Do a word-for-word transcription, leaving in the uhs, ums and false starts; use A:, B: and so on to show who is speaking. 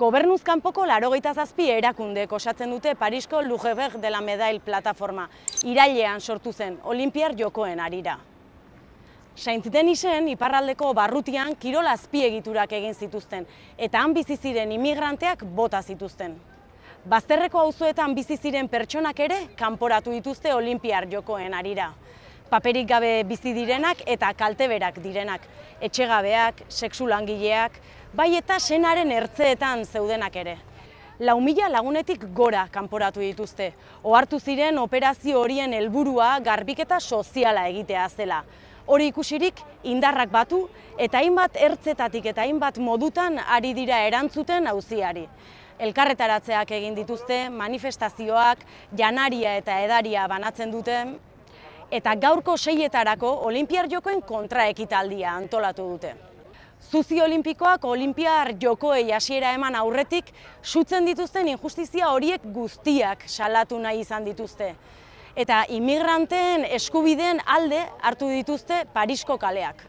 A: Gobernuz kanpoko laurogeita zazpi erakundek osatzen dute Parisko Lugeberg de la Medaille plataforma, irailean sortu zen Olinpiar Jokoen harira. Saint-Denisen iparraldeko barrutian kirol azpiegiturak egin zituzten, eta han bizi ziren imigranteak bota zituzten. Bazterreko auzoetan bizi ziren pertsonak ere kanporatu dituzte Olinpiar Jokoen harira. Paperik gabe bizi direnak eta kalteberak direnak, etxegabeak, sexu langileak, bai eta senaren ertzeetan zeudenak ere. Lau mila lagunetik gora kanporatu dituzte, ohartu ziren operazio horien helburua garbiketa soziala egitea zela. Hori ikusirik indarrak batu eta hainbat ertzetatik eta hainbat modutan ari dira erantzuten auziari. Elkarretaratzeak egin dituzte, manifestazioak, janaria eta edaria banatzen duten, eta gaurko seietarako Olinpiar Jokoen kontraekitaldia antolatu dute. Zuzi olimpikoak Olinpiar Jokoei hasiera eman aurretik sutzen dituzten injustizia horiek guztiak salatu nahi izan dituzte. Eta imigranteen eskubideen alde hartu dituzte Parisko kaleak.